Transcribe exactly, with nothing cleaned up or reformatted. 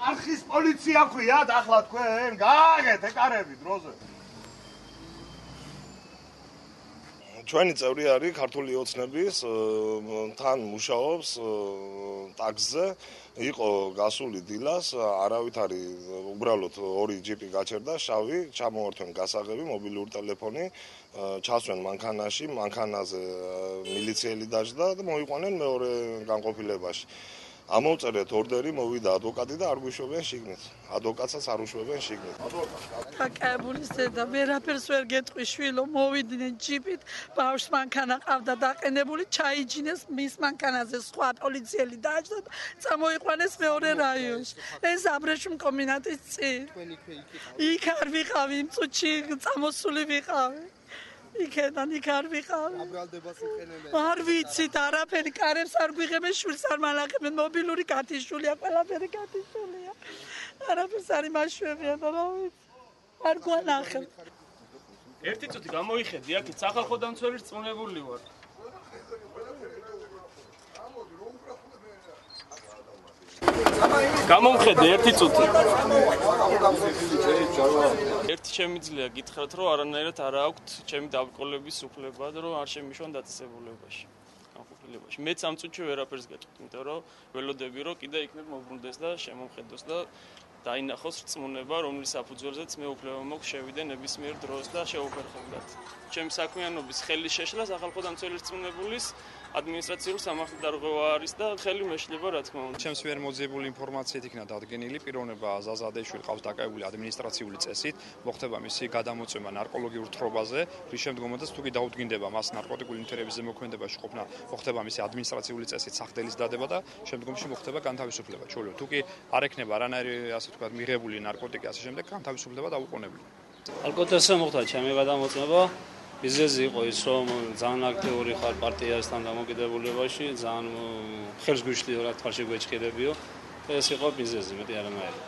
არხის პოლიცია ქვიათ ახლა თქვენ გააგეთ ეკარები დროზე ჩვენი წევრი არის ქართული ოცნების თან მუშაობს ტაქსზე იყო გასული დილას არავით არის უბრალოდ ორი ჯიპი გაჩერდა შავი ჩამოართვენ გასაღები მობილური ტელეფონი ჩასვენ მანქანაში მანქანაზე მილიციელი დაждდა და მოიყვანენ მეორე განყოფილებაში ამოვწერეთ ორდერი მოვიდა ადვოკატი და არ გვიშვებენ შიგნით ადვოკატსაც არ უშვებენ შიგნით აკაბულის და ვერაფერს ვერ გეტყვი შვილო მოვიდნენ ჯიპით ბავშვს მანქანა ყავდა დაყენებული ჩაიჯინეს მის მანქანაზე სხვა პოლიციელი დააჯდა და წამოიყვანეს მეორე რაიონში ეს აბრეშუმ კომბინატის წინ იქ არ ვიყავი იმ წუთში წამოსული ვიყავი იქიდან იქ არ ვიყავი არ ვიცით არაფერი კარებს არ გვიღებენ შვილს არ მალახებენ მობილური გათიშულია ყველაფერი გათიშულია არაფერს არ იმაშვებიან რა ვიცი არ გვანახებ ერთი წუთი გამოიხედი აქეთ სახალხო დამცველის წუნებული ვარ გამომხედე ერთი წუთი ერთი შემიძლია გითხრათ რომ არანაირად არ აქვთ ჩემი დაბრკოლების უფლება და რომ არ შემიშვან დაწესებულებაში განყოფილებაში მეც ამ წუთში ვერაფერს გეტყვით იმიტომ რომ ველოდები რომ კიდე იქნებ მოbrunდეს და შემომხედოს და დაინახოს რწმუნება რომლის საფუძველზეც მე უფლება მაქვს შევიდე ნებისმიერ დროს და შეუფერხებლად ჩემი საქმიანობის ხელის შეშლა სახალხო დამცველის რწმუნებულის ადმინისტრაციულ სამართალდარღვევა არის და ხელი მეშლება რა თქმა უნდა. ჩემს ვერ მოძებული ინფორმაციით იქნა დადგენილი პიროვნება ზაზა ადეიშვილი ყავს დაკავებული ადმინისტრაციული წესით, მოხდება მისი გადამოწვევა ნარკოლოგიურ თხრობაზე, რის შემდგომაც თუ კი დაუდგინდება მას ნარკოტიკული ნივთიერების ზემოქმედებაში ყოფნა, მოხდება მისი ადმინისტრაციული წესით სახდელის დადება და შემდგომში მოხდება განთავისუფლება. ჩოლო თუ კი არ ექნება არანაირი ასე ვთქვათ მიღებული ნარკოტიკი ასე შემდეგ განთავისუფლება დაუყოვნებლივ. ალკოტესზე მოხდა ჩემი გადამოწმება მიზეზი იყო ის რომ ძალიან აქტიური ხარ პარტიასთან დამოკიდებულებაში ძალიან ხელს გვიშლიო რა თვალში გვეჭქერებიო ეს იყო მიზეზი მეტი არანაირი